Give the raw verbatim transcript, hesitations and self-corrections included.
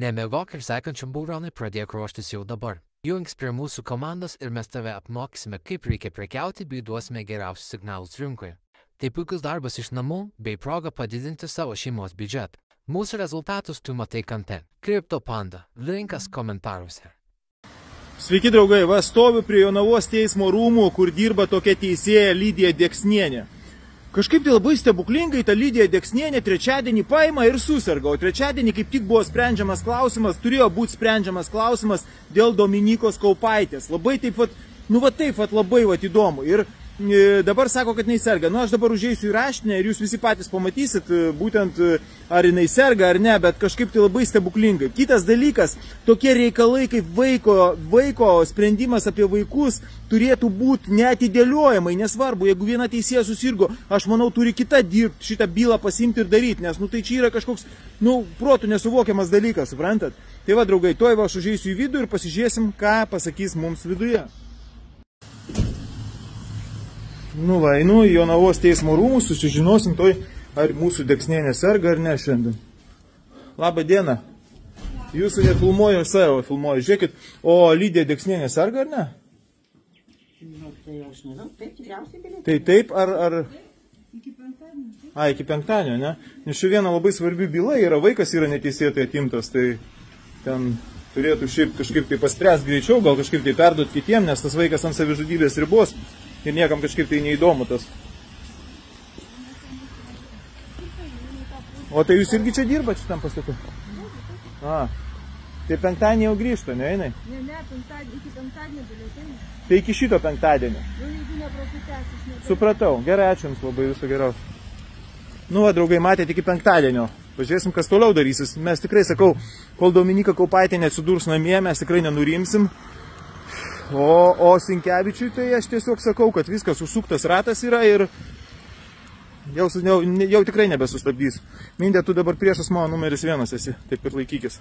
Nemiegok ir sekančiam būronui pradėk ruoštis jau dabar. Jungs prie mūsų komandos ir mes tave apmokysime, kaip reikia prekiauti bei duosime geriausius signalus rinkoje. Tai puikus darbas iš namų bei proga padidinti savo šeimos biudžetą. Mūsų rezultatus tu matai kante. CryptoPanda. Linkas komentaruose. Sveiki draugai, va stoviu prie Jonavos teismo rūmų, kur dirba tokia teisėja Lidija Deksnienė. Kažkaip tai labai stebuklingai ta Lidija Deksnienė trečiadienį paima ir susirga, o trečiadienį kaip tik buvo sprendžiamas klausimas, turėjo būti sprendžiamas klausimas dėl Dominykos Kaupaitės. Labai taip vat, nu va taip vat labai vat įdomu. Ir e, dabar sako, kad jinai serga. Nu aš dabar užeisiu į raštinę ir jūs visi patys pamatysit, būtent ar jinai serga ar ne, bet kažkaip tai labai stebuklingai. Kitas dalykas, tokie reikalai kaip vaiko, vaiko sprendimas apie vaikus turėtų būti neatidėliojamai, nesvarbu, jeigu viena teisėja susirgo, aš manau, turi kita dirbti, šitą bylą pasimti ir daryti, nes, nu, tai čia yra kažkoks, nu, protų nesuvokiamas dalykas, suprantat? Tai va, draugai, toj va, aš užeisiu į vidų ir pasižiūrėsim, ką pasakys mums viduje. Nu, va, einu į Jonavos teismo rūmus, susižinosim toj, ar mūsų Deksnienė serga ar ne šiandien. Labą dieną. Jūsų nefilmuoju, aš savo filmuoju. Žiūrėkit, o Lidija Deksnienė serga ar ne? Nu, tai aš nežinau, taip, tikriausiai galėtų. Tai taip, ar... ar... Iki penktadienio. A, iki penktadienio, ne? Nes ši viena labai svarbi byla yra, vaikas yra neteisėtai atimtas, tai ten turėtų šiaip kažkaip tai paspręsti greičiau, gal kažkaip tai perduoti kitiem, nes tas vaikas ant savižudybės ribos ir niekam kažkaip tai neįdomu tas. O tai jūs irgi čia dirbat šitam pastatu? A, tai penktadienį jau grįžta, ne, einai? Ne, ne, penktadienį, iki penktadienio galėtų. Tai iki šito penktadienio. Nu, jeigu neprasitęs, aš negaliu. Supratau, gerai, ačiū jums labai, viso geriausio. Nu, va, draugai, matėte iki penktadienio. Pažiūrėsim, kas toliau darysis. Mes tikrai, sakau, kol Dominyka Kaupaitė neatsidurs namie, mes tikrai nenurimsim. O, o Sinkevičiui tai aš tiesiog sakau, kad viskas užsuktas ratas yra ir jau, jau, jau tikrai nebesustabdys. Mindė, tu dabar priešas mano numeris vienas esi, taip ir laikykis.